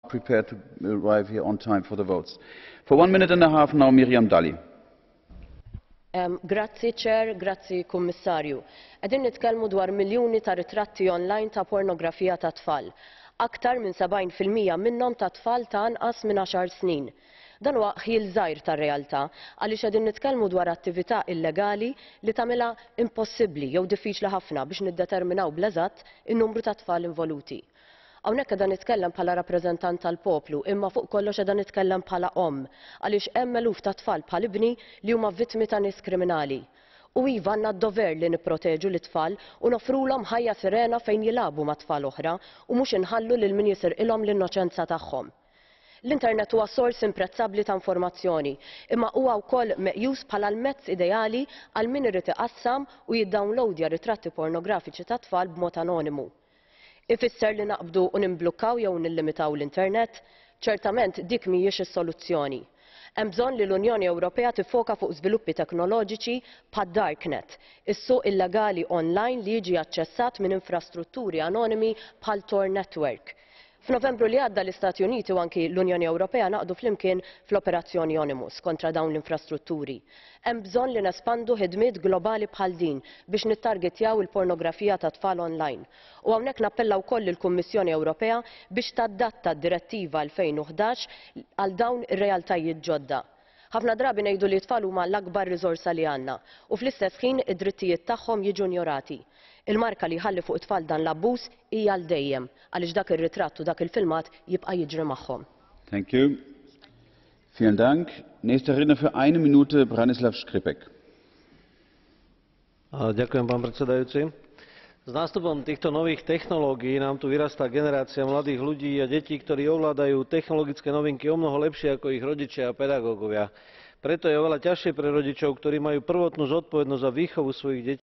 Prepared to arrive here on time for the votes. For one minute and a half now, Miriam Dalli. Grazzi Chair, grazzi Kummissarju. Qegħdin nitkellmu dwar miljuni ta' ritratti online ta' pornografija ta' tfal. Aktar minn 70% minnhom ta' tfal ta' anqas minn 10 snin. Dan huwa ħjiel żgħir tar-realtà għaliex qegħdin nitkellmu dwar attività illegali li tagħmilha impossibbli jew diffiċli ħafna biex niddeterminaw bl-eżatt in-numru ta' tfal involuti. Hawnhekk qiegħda nitkellem bħala rappreżentant tal-poplu, imma fuq kollox qiegħda nitkellem bħala omm, għaliex hemm eluf ta' tfal bħal ibni li huma vittmi ta' nies kriminali. U iva għandna d-dover li nipproteġu lit-tfal u noffrulhom ħajja serena fejn jilagħbu ma' tfal oħra u mhux inħallu lil min jisirqilhom l-innoċenza tagħhom. L-internet huwa sors imprezzabbli ta' informazzjoni, imma huwa wkoll meqjus bħala l-mezz ideali għal min irid iqassam u jiddownloadja ritratti pornografiċi ta' tfal b'mod anonimu. Ifisser li naqbdu u nimblukkaw jew nillimitaw l-internet? Ċertament dik mhijiex is-soluzzjoni. Hemm bżonn li l-Unjoni Ewropea tiffoka fuq żviluppi teknoloġiċi bħad-darknet, is-suq illegali online li jiġi aċċessat minn infrastrutturi anonimi bħal Tor Network. F'Novembru li għadda l-Istati Uniti u anki l-Unjoni Ewropea ngħaqdu flimkien fl-Operazzjoni Onimus kontra dawn l-infrastrutturi. Hemm bżonn li nespandu ħidmiet globali bħal din biex nittargetjaw il-pornografija ta' tfal online. U hawnhekk nappella wkoll lill-Kummissjoni Ewropea biex tadatta d-Direttiva 2011 għal dawn ir-realtajiet ġodda. Ħafna drabi ngħidu li t-tfal huma l-akbar riżorsa li għandna u fl-istess ħin id-drittijiet tagħhom jiġu injorati. Il-marka li jħalli fuq it-tfal dan l-abbuż hija għal dejjem għaliex dak ir-ritratt u dak il-filmat jibqa' jiġri magħhom. Thank you. Vielen Dank. Nächster Redner für eine Minute, Branislav Škripek. Ďakujem, pán predsedajúci. S nástupom týchto nových technológií nám tu vyrastá generácia mladých ľudí a detí, ktorí ovládajú technologické novinky omnoho lepšie ako ich rodičia a pedagógovia. Preto je oveľa ťažšie pre rodičov, ktorí majú prvotnú zodpovednosť za výchovu svojich detí,